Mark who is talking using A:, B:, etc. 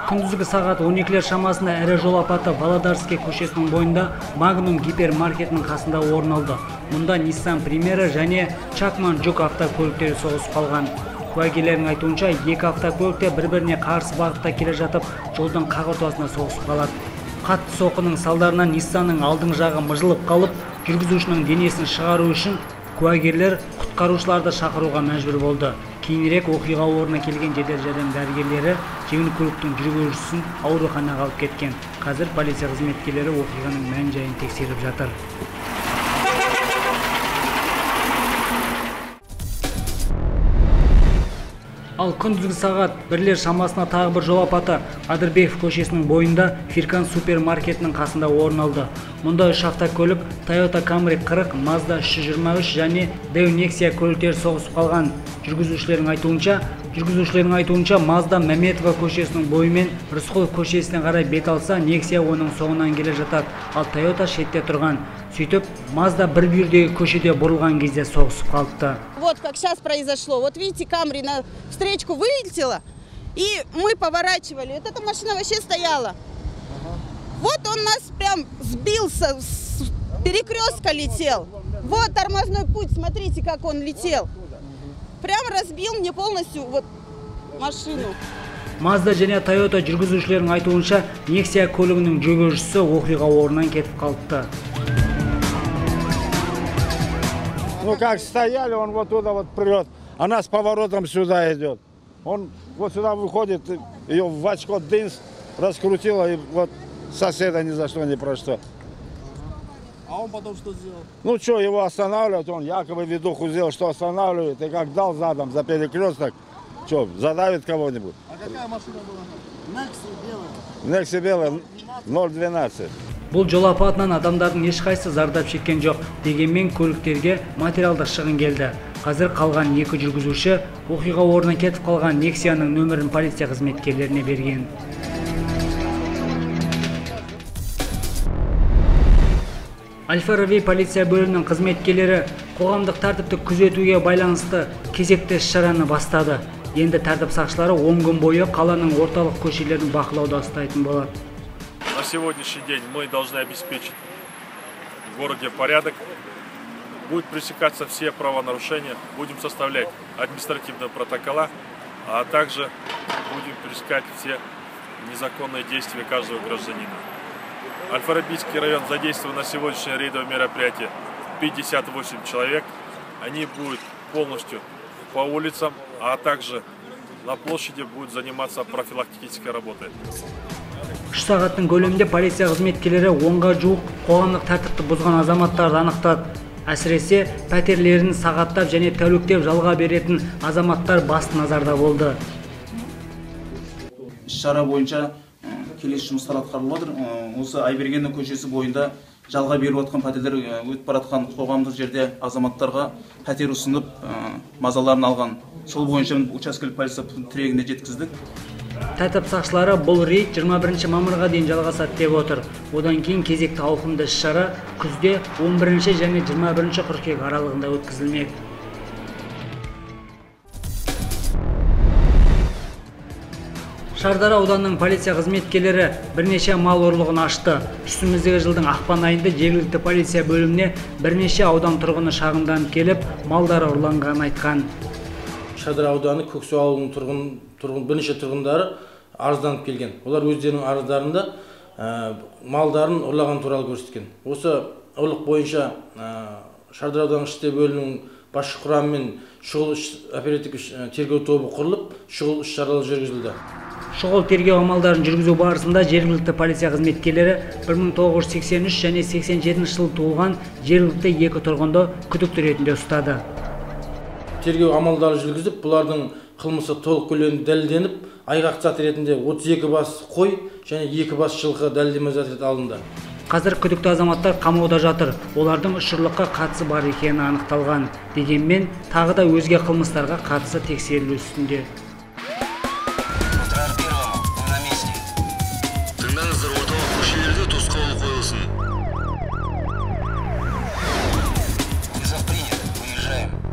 A: Күндүзгі сағат 12-лер шамасында ірі жол апаты Володарский көшесінің бойында Magnum гипермаркетінің қасында орын алды. Мұнда Nissan Primera және Chakman жүк автокөліктері соғысып қалған. Куәгерлердің айтуынша, екі автокөлікте бір-біріне қарсы бағытта келе жатып, жолдың қақ ортасына соғысып қалады. Қатты соққының салдарынан Nissanның алдың жағы мыжылып қалып, жүргізушінің денесін шығару үшін куәгерлер құтқарушыларды шақыруға мәжбүр болды. Кейінірек оқиға орнына келген жедел жәрдем дәрігерлері жеңіл көліктің жүргізушісін ауруханаға алып кеткен. Қазір полиция қызметкерлері оқиғаның мән-жайын тексеріп жатыр. Ал күндізгі сағат 1-лер шамасына тағы бір жол апаты Адырбеков көшесінің бойында Фиркан супермаркетінің қасында орын алды. Мұнда 3 автокөлік Toyota Camry 40, Mazda 323 және Deo Nexia көліктері соғысып қалған. Жүргізушілердің айтуынша Mazda Мәметова көшесінің бойымен Рысқұлов көшесіне қарай бет алса, Nexia оның соңынан келе жатады, ал Toyota шетте тұрған. Сөйтіп, Mazda бір бүйірдегі көшеде бұрылған кезде соғысып қалыпты.
B: Вот как сейчас произошло. Вот видите, Камри на встречку вылетела, и мы поворачивали. Вот эта машина вообще стояла. Вот он нас прям сбился, с перекрестка летел. Вот тормозной путь, смотрите, как он летел. Прям разбил мне полностью вот машину.
A: Mazda және Toyota жүргізушілердің айтуынша, Nexia көлігінің жүргізушісі оқиға орнынан кетіп қалыпты.
C: Ну как стояли, он вот туда вот прет, она с поворотом сюда идет. Он вот сюда выходит, ее в очко дынс раскрутила, и вот соседа ни за что, ни про что.
D: А он потом что сделал?
C: Ну что, его останавливать, он якобы видуху сделал, что останавливает, и как дал задом за перекресток, что, задавит кого-нибудь.
D: А какая машина была? Nexia белая.
C: Nexia белая 012.
A: Бұл жол апатынан адамдардың ешқайсысы зардап шеккен жоқ, дегенмен көліктерге материалдық шығын келді. Қазір қалған екі жүргізуші оқиға орнына кетіп қалған Nexia'ның нөмірін полиция қызметкерлеріне берген. Аль-Фараби полиция бөлімінің қызметкерлері қоғамдық тәртіпті күзетуге байланысты кезекті іс-шараны бастады. Енді тәртіп сақшылары 10 күн бойы қаланың орталық көшелерін бақылауда ұстайтын болады.
E: На сегодняшний день мы должны обеспечить в городе порядок. Будут пресекаться все правонарушения, будем составлять административные протокола, а также будем пресекать все незаконные действия каждого гражданина. Аль-Фарабийский район задействован на сегодняшнее рейдовое мероприятие 58 человек. Они будут полностью по улицам, а также на площади будут заниматься профилактической работой.
A: 3 сағаттың көлемінде полиция қызметкерлері 10-ға жуық қоғамдық тәртіпті бұзған азаматтарды анықтады. Әсіресе пәтерлерін сағаттап және тәуліктеп жалға беретін азаматтар басты назарда болды.
F: Іс-шара бойынша келесі жұмыстар атқарылып отыр. Осы Айбергеннің көшесі бойында жалға беріп жатқан пәтерлер өтіп баратқан қоғамдық жерде азаматтарға пәтер ұсынып мазаларын алған. Сол бойынша учаскелік полиция тірегіне жеткіздік.
A: Тәртіп сақшылары бұл рейд 21 мамырға дейін жалғасады деп отыр. Одан кейін кезекті ауқымды іс-шара күзде 11 және 21 қыркүйек аралығында өткізілмек. Шардара ауданының полиция қызметкерлері бірнеше мал ұрлығын ашты. Үстіміздегі жылдың ақпан айында жергілікті полиция бөліміне бірнеше аудан тұрғыны шағымданып келіп, малдары ұрланғанын айтқан.
D: Шардара ауданы Көксу ауылының бірнеше тұрғындары арызданып келген. Олар өздерінің арыздарында малдарын ұрлаған туралы көрсеткен. Осы ұрлық бойынша Шардара ауданы ішкі бөлімінің басшы құрамымен шұғыл оперативтік тергеу тобы құрылып, шұғыл іс-шаралар жүргізілді.
A: Шұғыл тергеу амалдарын жүргізу барысында жергілікті полиция қызметкерлері 1983 және 87 жыл туылған жергілікті екі тұрғынды күдікті ретінде ұстады.
D: Тергеу амалдары жүргізіп, бұлардың қылмысы толық көлемде дәлелденіп, айғақ зат ретінде 32 бас қой және 2 бас жылқы дәлелдеме зат ретінде алынды.
A: Қазір күдікті азаматтар қамауда жатыр. Олардың үш ұрлыққа қатысы бар екені анықталған. Дегенмен, тағы да өзге қылмыстарға қатысы тексерілу үстінде.
G: Тыңдаңыздар, орталық көшелерде тосқауыл қойылсын.